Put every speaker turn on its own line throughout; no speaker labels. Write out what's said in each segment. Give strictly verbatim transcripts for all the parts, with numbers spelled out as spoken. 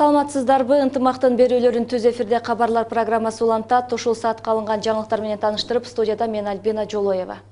Саламатсыздарбы, ынтымактын берүүлөрүн түз эфирде кабарлар программасы улантат. Ушул саатка алынган жаңылыктар менен таныштырып, студияда мен Альбина Жолоева.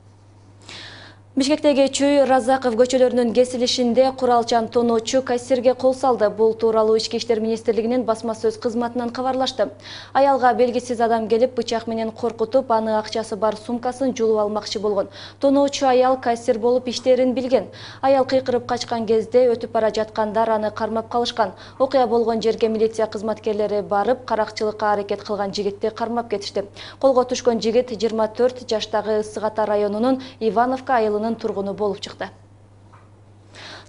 Бишкектеги Чүй Разаков көчөлөрүнүн кесилишинде куралчан тоноочу кассирге кол салды. Бул тууралуу Ички иштер министрлигинин басма сөз кызматынан кабарлашты. Аялга белгисиз адам келип бычак менен коркутуп, аны акчасы бар сумкасын жулуп алмакчы болгон. Тоноочу аял кассир болуп иштерин билген. Аял кыйкырып качкан кезде өтүп бара жаткандар аны кармап калышкан. Окуя болгон жерге милиция кызматкерлери барып, каракчылыкка аракет кылган жигитти кармап кетишти. Колго түшкөн жигит жыйырма төрт жаштагы Ысык Ата районунун Ивановка айылынын тургуну болуп чыкты.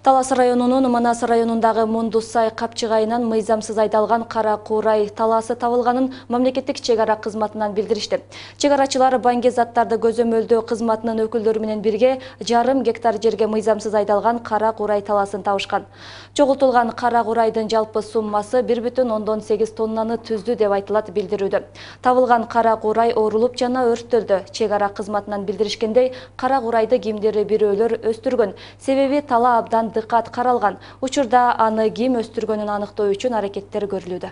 Талас районунун Манас районундагы Мундусай капчыгайынан мыйзамсыз айдалган кара куурай талаасы табылганын мамлекеттик чек ара кызматынан билдиришти. Чек арачылар банги заттарды көзөмөлдөө кызматынын өкүлдөрү менен бирге жарым гектар жерге мыйзамсыз айдалган кара куурай талаасын табышкан. Чогултулган кара куурайдын жалпы суммасы бир бүтүн ондон сегиз тоннаны түздү деп айтылат билдирүүдө. Табылган кара куурай оорулуп жана өрттөлдү. Чек ара кызматынан билдиришкендей, кара куурайды кимдир бирөөлөр өстүргөн. Себеби тала абдан дыккат каралган. Учурда аны ким өстүргөнүн аныктоо үчүн аракеттер көрүлүүдө.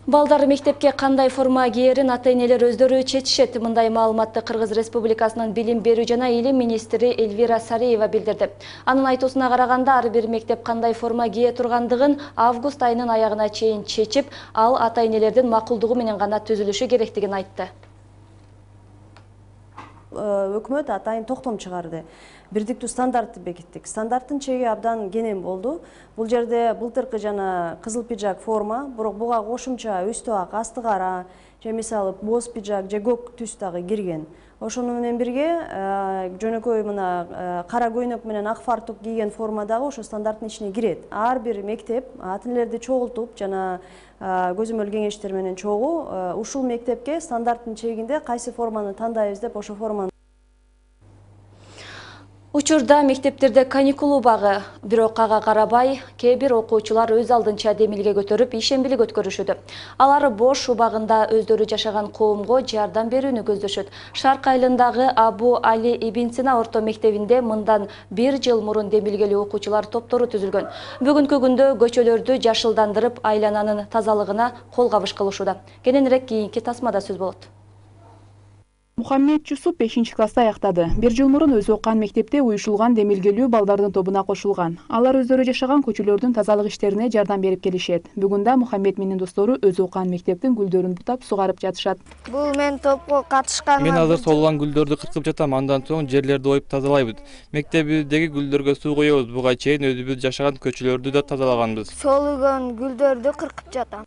Балдар мектепке кандай форма кийерин ата-энелер өздөрү чечишет. Мындай маалыматты Кыргыз Республикасынын билим берүү жана илим министри Эльвира Сариева билдирди. Анын айтуусуна караганда, ар бир мектеп кандай форма кие тургандыгын август айынын аягына чейин чечип, ал ата-энелердин макулдугу менен гана түзүлүшү керектигин айтты.
Өкмөт атайын токтом чыгарды. Бирдиктүү стандартты бекиттик. Стандарттын чеги абдан кенен болду. Бул жерде былтыркы жана кызыл пиджак форма, бирок буга кошумча үстү ак, асты кара, же мисалы боз пиджак же көк түс дагы кирген. Ошону менен бирге жөнөкөй мына кара көйнөк менен ак фартук кийген форма дагы ошо стандарттын ичине кирет. Ар бир мектеп ата-энелерди чогултуп жана көзөмөл кеңештер менен чогуу ушул мектепке стандарттын чегинде кайсы форманы тандайбыз деп ошо форманы.
Учурда мектептерде каникул убагы, бирок ага карабай, кээ бир окуучулар өз алдынча демилге көтөрүп ишембилик өткөрүшүүдө. Алар бош убагында өздөрү жашаган коомго жардам берүүнү көздөшөт. Шарк айылындагы Абу Али Ибн Сина орто мектебинде мындан бир жыл мурун демилгелүү окуучулар топтору түзүлгөн. Бүгүнкү күндө көчөлөрдү жашылдандырып, айлананын тазалыгына кол кабыш кылышууда. Кененирээк кийинки тасмада сөз болот.
Мухаммед Чусуп бешинчи класста аяктады. Бир жыл мурун өзү окуган мектепте уюшулган демилгелүү балдардын тобуна кошулган. Алар өздөрү жашаган көчөлөрдүн тазалык иштерине жардам берип келишет. Бүгүн да Мухаммед менен достору өзү окуган мектептин гүлдөрүн бутап сугарып жатышат.
Бул мен топко катышкан.
Мен азыр солгон гүлдөрдү кыркып жатам, андан соң жерлерди оюп тазалайбыз. Мектебибиздеги гүлдөргө суу коебуз. Буга чейин өзүбүз жашаган көчөлөрдү да тазалаганбыз.
Солгон гүлдөрдү кыркып жатам.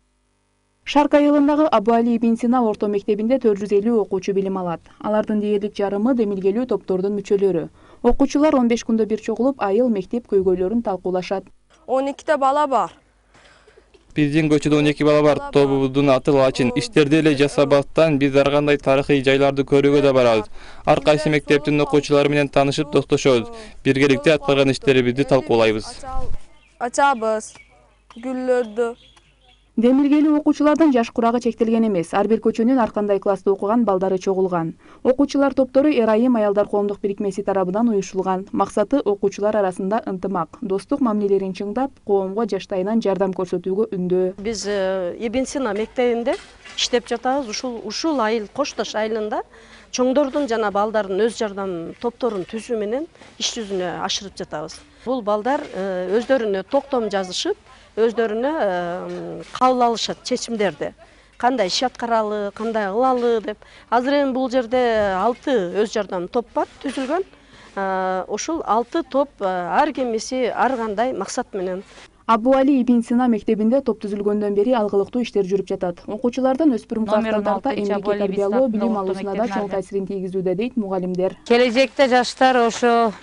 Шарк айылындагы Абу Али Ибн Сина орто мектебинде төрт жүз элүү окуучу билим алат. Алардын дээрлик жарымы демилгелүү топтордун мүчөлөрү. Окуучулар он беш күндө бир чогулуп, айыл мектеп көйгөйлөрүн талкуулашат.
он эките бала бар.
Биздин көчөдө он эки бала бар. Тобубуздун аты Лачин. Иштерди эле жасабастан биз ар кандай тарыхый жайларды көрүүгө да барабыз. Ар кайсы мектептин окуучулары менен таанышып, достошобуз. Биргеликте аткарган иштерибизди талкуулайбыз.
Ачабыз гүлдөрдү.
Демилгелүү окуучулардын жаш курагы чектелген эмес. Ар бир көчөнүн ар кандай класста окуган балдары чогулган. Окуучулар топтору Эрайым аялдар коомдук бирикмеси тарабынан уюшулган. Максаты окуучулар арасында ынтымак, достук мамилелерин чыңдап, коомго жаштайынан жардам көрсөтүүгө үндөө.
Биз Ибн Сина мектебинде иштеп жатабыз. Ушул ушул айыл Коштош айылында чоңдордун жана балдардын өз жардам топторун түзүү менен иш жүзүнө ашырып жатабыз. Бул балдар өздөрүнө токтом жазышып, өздөрүнө кабыл алышат чечимдерди. Кандай иш аткаралы, кандай кылалы деп. Азыр эми бул жерде алты өз жардам топ бар, түзүлгөн. Ушул алты топ ар кимиси ар кандай максат менен.
Абу Али Ибн Сина мектебинде топ түзүлгөндөн бери алгылыктуу иштер жүрүп жатат. Окуучулардан өспүрүм класстарда эмгекке тарбиялоо билим алуусуна да чоң таасирин тийгизүүдө дейт мугалимдер.
Келечекте жаштар ошо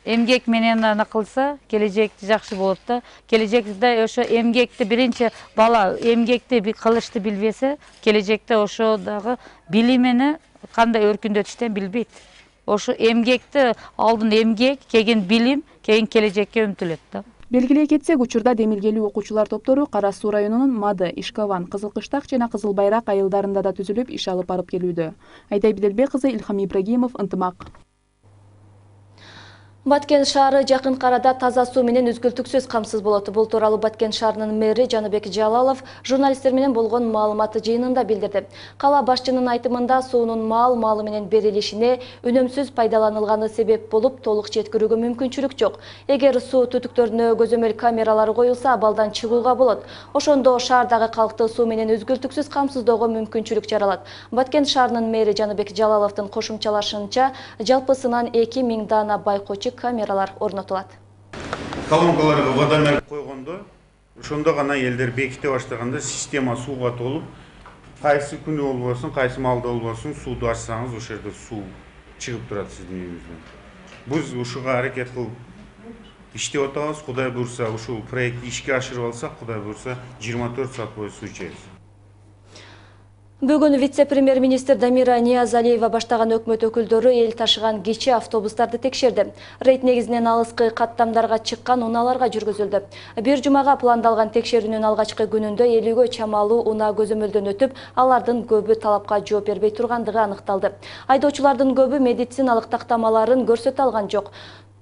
эмгек менен аны кылса, келечекти жакшы болот да. Келечекте ошо эмгекти биринчи бала эмгекти кылышты билбесе, келечекте ошо дагы билимини кандай өркүндөтүштөн билбейт. Ошо эмгекти алдын эмгек, кийин билим, кийин келечекке умтулат да.
Белгилей кетсек, учурда демилгелүү окуучулар топтору Кара Суу районунун Мады, Ишкаван, Кызыл Кыштак жана Кызыл Байрак айылдарында да түзүлүп, иш алып барып келүүдө. Айтай Биделбек кызы, Илхам Ибрагимов, Ынтымак.
Баткен шаары жакынкы арада таза суу менен үзгүлтүксүз камсыз болот. Бул тууралуу Баткен шаарынын мэри Жаныбек Жалалов журналисттер менен болгон маалымат жыйынында билдирди. Кала башчынын айтымында суунун маал-маалы менен берилишине үнөмсүз пайдаланылганы себеп болуп, толук жеткирүүгө мүмкүнчүлүк жок. Эгер суу түтүктөрүнө көзөмөл камералары коюлса, абалдан чыгууга болот. Ошондо шаардагы калкты суу менен үзгүлтүксүз камсыздоого мүмкүнчүлүк жаралат. Баткен шаарынын мэри Жаныбек Жалаловдун кошумчалашынча, жалпысынан эки миң даана байкоочу камералар орнотулат.
Колонкаларга водомер койгондо, ошондо гана элдер беките баштаганда система сууга толуп, кайсы күнү болбосун, кайсы маалда болбосун, сууду ачсаңыз, ошол жерде суу чыгып турат сиздин үйүңүздөн. Биз ушуга аракет кылып иштеп атабыз. Кудай буйрса, ушул проектти ишке ашырып алсак, Кудай буйрса, жыйырма төрт саат бою суу ичебиз.
Бүгүн вице-премьер-министр Дамира Ниязалиева баштаган өкмөт өкүлдөрү эл ташыган кичи автобустарды текшерди. Рейд негизинен алыскы каттамдарга чыккан унааларга жүргүзүлдү. Бир жумага пландалган текшерүүнүн алгачкы күнүндө элүүгө чамалуу унаа көзөмөлдөн өтүп, алардын көбү талапка жооп бербей тургандыгы аныкталды. Айдоочулардын көбү медициналык тактамаларын көрсөтө алган жок.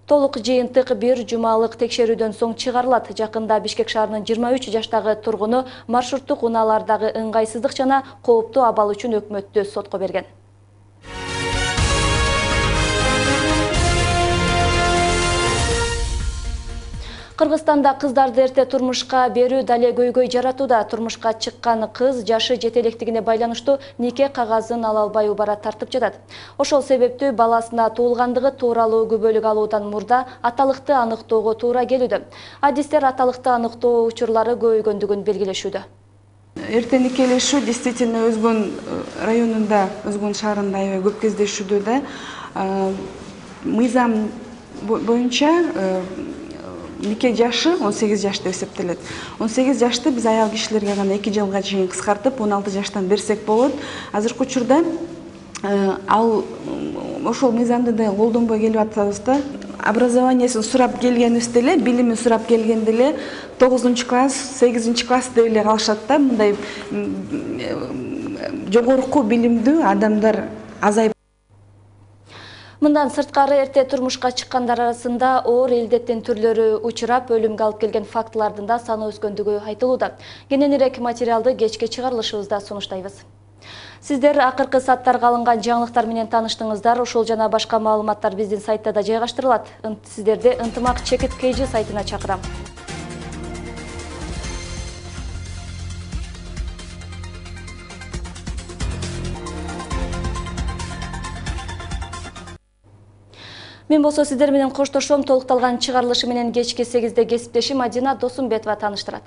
Толук жыйынтык бир жумалык текшерүүдөн соң чыгарылат. Жакында Бишкек шаарынын жыйырма үч жаштагы тургуну маршруттук унаалардагы ыңгайсыздык жана кооптуу абал үчүн өкмөттү сотко берген. Кыргызстанда кыздарды эрте турмушка берүү дале көйгөй жаратууда. Турмушка чыккан кыз жашы жете электигине байланыштуу нике кагазын ала албай убара тартып жатат. Ошол себептүү баласына туулгандыгы тууралуу күбөлүк алуудан мурда аталыкты аныктоого туура келүүдө. Адистер аталыкты аныктоо учурлары көбөйгөндүгүн белгилешүүдө.
Эрте никелешүү действительно Өзгөн районунда, Өзгөн шаарында аябай көп кездешүүдө да. Мыйзам боюнча нике жашы он сегиз жаш деп эсептелет. он сегиз жашты биз аял кишилерге гана эки жылга чейин кыскартып, он алты жаштан берсек болот. Азыркы учурда ал ошол мыйзамды да колдонбой келип атабыз да. Образованиясын сурап келгенибизде эле, билимин сурап келгенде эле тогузунчу класс, сегизинчи класс деп эле калышат да. Мындай жогорку билимдүү адамдар азайып.
Мындан сырткары эрте турмушка чыккандар арасында оор илдеттин түрлөрү учурап, өлүмгө алып келген фактылардын да саны өскөндүгү айтылууда. Кененирээк материалды кечки чыгарылышыбызда сунуштайбыз. Сиздер акыркы сааттарга алынган жаңылыктар менен тааныштыңыздар. Ушул жана башка маалыматтар биздин сайтта да жайгаштырылат. Сиздерди ынтымак чекит kg сайтына чакырам. Мен болсо сиздер менен коштошом. Толукталган чыгарылышы менен кечки сегизде кесиптешим Мадина Досумбетова тааныштырат.